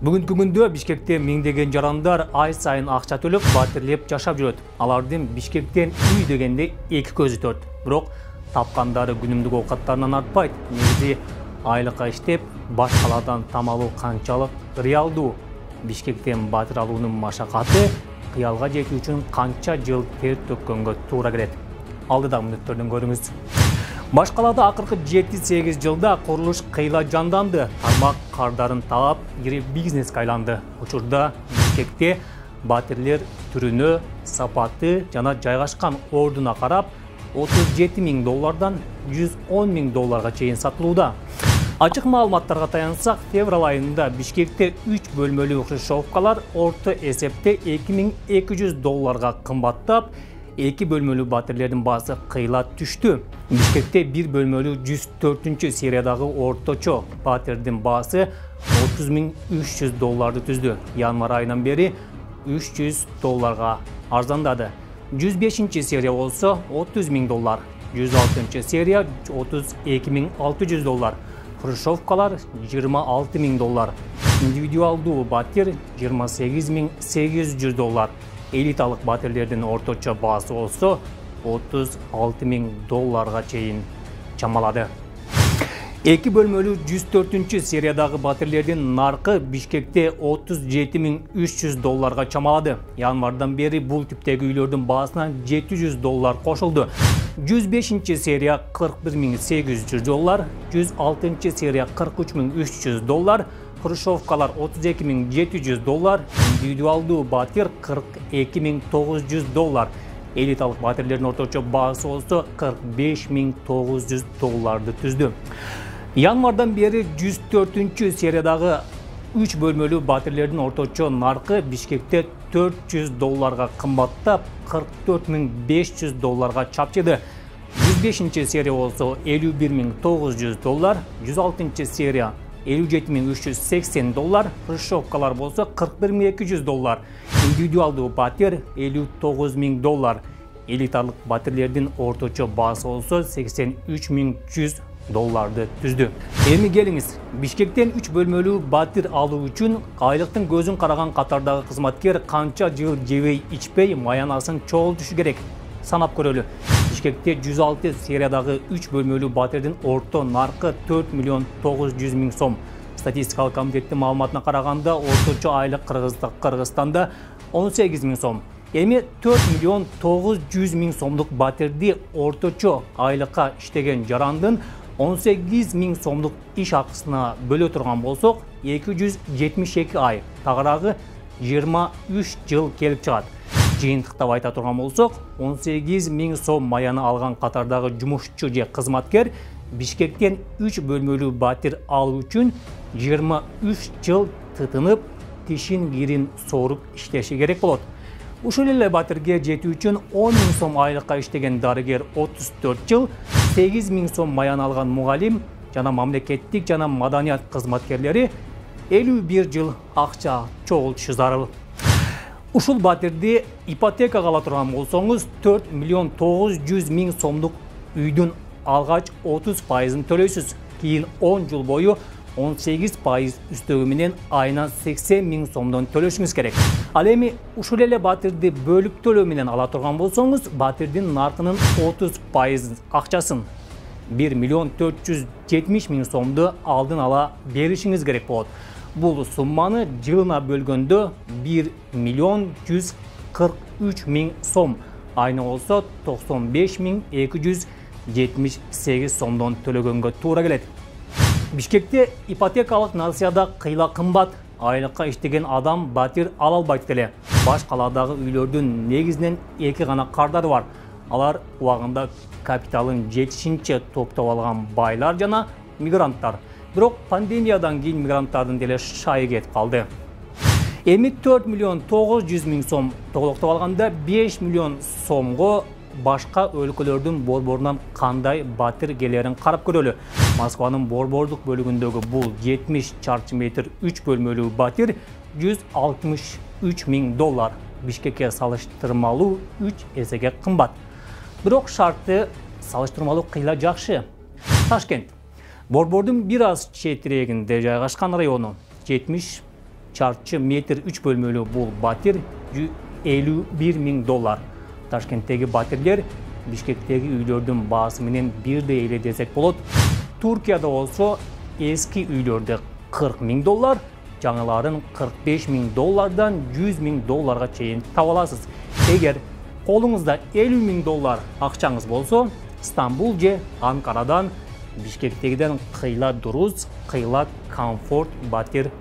Бүгүнкү күндө Бишкекте миңдеген жарандар ай сайын акча төлөп батирлеп жашап жүрөт. Алардын Бишкектен үй дегенде эки көзү төрт. Бирок тапкандары күнүмдүк оокаттарынан артпайт. Негизи айлыкка иштеп, баш калаадан там алуу канчалык реалдуу? Бишкектен батир алуунун машакаты кыялга жетүү үчүн канча жыл тер төккөнгө туура келет? Алдыда мүнөттөрдөн көрүңүз. Баш калаада акыркы 7-8 жылда курулуш кыйла жанданды. Тармак кардарын таап, ири бизнеске айланды. Учурда Бишкекте батирлер түрүнө, сапаты жана жайгашкан ордуна карап $37 000 $110 000 чейин сатылууда. Ачык маалыматтарга таянсак, февраль айында Бишкекте 3 бөлмөлүү хрущевкалар орто эсепте $2200 кымбаттап, 2 бөлмөлүү батирлердин баасы кыйла түштү. Бишкекте 1 бөлмөлүү 104 сериядагы орточо батирдин баасы $30 300 түздү. Январь айынан бери $300 арзандады. 105 серия болсо $30 000, 106 серия $32 600, хрущевкалар $26 000, индивидуалдуу батир $28 800, элиталык батирлердин орточо баасы болсо $36 000 чейин чамалады. 2 бөлмөлүү 104 сериядагы батирлердин наркы Бишкекте $37 300 чамалады. Январдан бери бул типтеги үйлөрдүн баасына $700 кошулду. 105 серия $41 800, 106 серия $43 300, хрущевкалар $32 700, индивидуалдуу батир $42 900, элиталык батирлердин орточо баасы болсо $45 900 түздү. Январдан бери 104 сериядагы 3 бөлмөлүү батирлердин орточо наркы Бишкекте $400 кымбаттап, $44 500 чапчыды. 105 серия болсо $51 900, 106 серия $57 380, хрущевкалар болсо $41 200, индивидуалдуу батир $59 000, элиталык батирлердин орточо баасы болсо $83 100 түздү. Эми келиңиз, Бишкектен 3 бөлмөлүү батир алуу үчүн айлыктын көзүн караган катардагы кызматкер канча жыл жебей ичпей маянасын чогултушу керек? Санап көрөлү. Бишкекте 106 сериядагы 3 бөлмөлүү батирдин орто наркы $4 900 000 сом. Статистикалык комитеттин маалыматына караганда, орточо айлык Кыргызстанда 18 000 сом. Эми $4 900 000 сомдук батирди орточо айлыкка иштеген жарандын 18 000 сомдук иш акысына бөлө турган болсок, 272 ай, тагыраагы 23 жыл келип чыгат. Жыйынтыктап айта турган болсок, 18 000 сом маяны алган катардагы жумушчу же кызматкер Бишкектен 3 бөлмөлүү батир алуу үчүн 23 жыл тытынып, тишин кирин сооруп иштеши керек болот. Ушул эле батирге жетүү үчүн 10 000 сом айлыкка иштеген дарыгер 34 жыл, 8 000 сом маян алган мугалим жана мамлекеттик жана маданият кызматкерлери 51 жыл акча чогултушу зарыл. Ушул батирди ипотекага ала турган болсоңуз, $4 900 000 сомдук үйдүн алгач 30% төлөйсүз. Кийин 10 жыл бою 18% үстөгү менен айына 80 000 сомдон төлөшүңүз керек. Ал эми ушул эле батирди бөлүп төлөө менен ала турган болсоңуз, батирдин наркынын 30% акчасын $1 470 000 сомду алдын ала беришиңиз керек болот. Бул сумманы жылына бөлгөндө $1 143 000 сом, айына болсо 95 278 сомдон төлөгөнгө туура келет. Бишкекте ипотекалык насыяда кыйла кымбат, айлыкка иштеген адам батир ала албайт эле. Баш калаадагы үйлөрдүн негизинен 2 гана кардары бар. Алар убагында капиталын жетишинче топтоп алган байлар жана мигранттар. Бирок пандемиядан кийин мигранттардын деле шайы кетип калды. Эми $4 900 000 сом толуктоп алганда 5 000 000 сомго башка өлкөлөрдүн борборунан кандай батир келерин карап көрөлү. Москванын борбордук бөлүгүндөгү бул 70 чарчы метр 3 бөлмөлүү батир $163 000. Бишкекке салыштырмалуу 3 эсеге кымбат. Бирок шарты салыштырмалуу кыйла жакшы. Ташкент борбордун бир аз четирегинде жайгашкан району 70 чарчы метр 3 бөлмөлүү бул батир 51 000 доллар. Ташкенттеги батирлер Бишкектеги үйлөрдүн баасы менен бирдей эле десек болот. Туркияда болсо эски үйлөрдө 40 000 доллар, жаңыларын 45 000 доллардан 100 000 долларга чейин таба аласыз. Эгер колуңузда 50 000 доллар акчаңыз болсо, Стамбул же Анкарадан Бишкектегиден кыйла дуруз, кыйла комфорт батир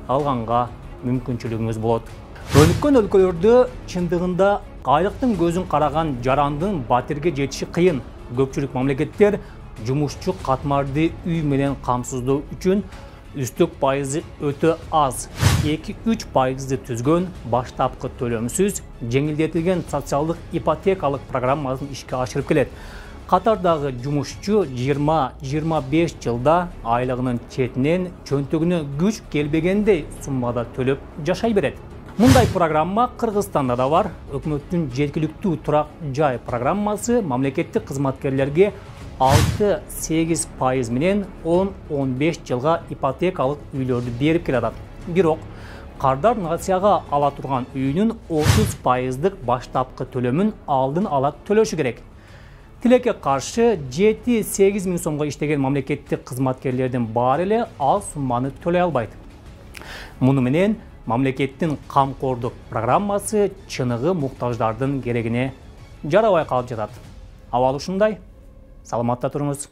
алганга мүмкүнчүлүгүңүз болот. Өнүккөн өлкөлөрдө чындыгында айлыктын көзүн караган жарандын батирге жетиши кыйын. Көпчүлүк мамлекеттер жумушчу катмарды үй менен камсыздоо үчүн үстүк пайызы өтө аз. 2-3% түзгөн баштапкы төлөмсүз жеңилдетилген социалдык ипотекалык программасын ишке ашырып келет. Катардагы жумушчу 20-25 жылда айлыгынын четинен чөнтөгүнө күч келбегендей суммада төлөп жашай берет. Мындай программа Кыргызстанда да бар. Өкмөттүн жеткиликтүү турак жай программасы мамлекеттик кызматкерлерге 6-8% менен 10-15 жылга ипотекалык үйлөрдү берип келатат. Бирок кардар нацияга ала турган үйүнүн 30%дык баштапкы төлөмүн алдын ала төлөшү керек. Тилекке каршы 7-8 000 сомго иштеген мамлекеттик кызматкерлердин баары эле ал сумманы төлөй албайт. Муну менен мамлекеттин камкордук программасы чыныгы муктаждардын керегине жарабай калып жатат. Абал ушундай. Саламатта туруңуз.